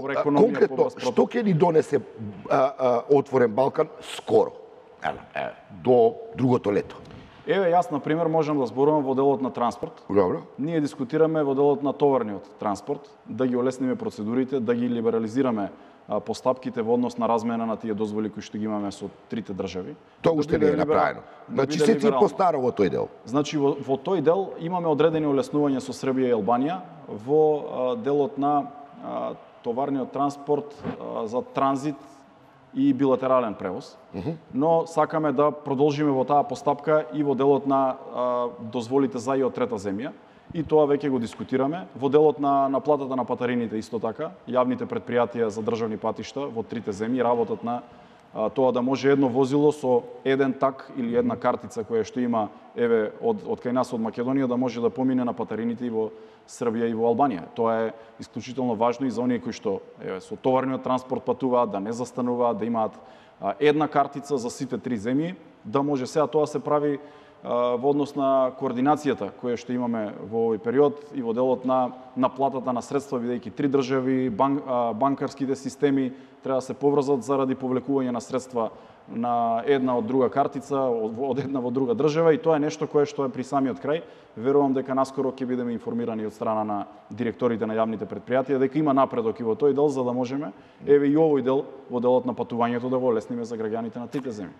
конкретно, што ќе ни донесе отворен Балкан скоро? До другото лето. Еве, јас, например, можам да зборувам во делот на транспорт. Добро. Ние дискутираме во делот на товарниот транспорт, да ги олесниме процедурите, да ги либерализираме постапките во однос на размена на тие дозволи кои што ги имаме со трите држави. Тоа уште не е направено. Значи се ти постара во тој дел. Значи во тој дел имаме одредени олеснувања со Србија и Албанија во делот на товарниот транспорт за транзит и билатерален превоз. Но сакаме да продолжиме во таа постапка и во делот на дозволите за и од трета земја. И тоа веќе го дискутираме. Во делот на платата на патарините исто така, јавните предпријатија за државни патишта во трите земји работат на тоа да може едно возило со еден так или една картица која што има еве од кај нас од Македонија да може да помине на патарините и во Србија и во Албанија. Тоа е исклучително важно и за оние кои што еве со товарниот транспорт патуваат, да не застануваат, да имаат една картица за сите три земји, да може сега тоа се прави во однос на координацијата која што имаме во овој период и во делот на платата на средства, бидејќи три држави, банкарските системи треба да се поврзат заради повлекување на средства на една од друга картица, од една во друга држава, и тоа е нешто кое што е при самиот крај. Верувам дека наскоро ќе бидеме информирани од страна на директорите на јавните предпријатија дека има напредок и во тој дел за да можеме еве и овој дел во делот на патувањето да го олесниме за граѓаните на трите земји.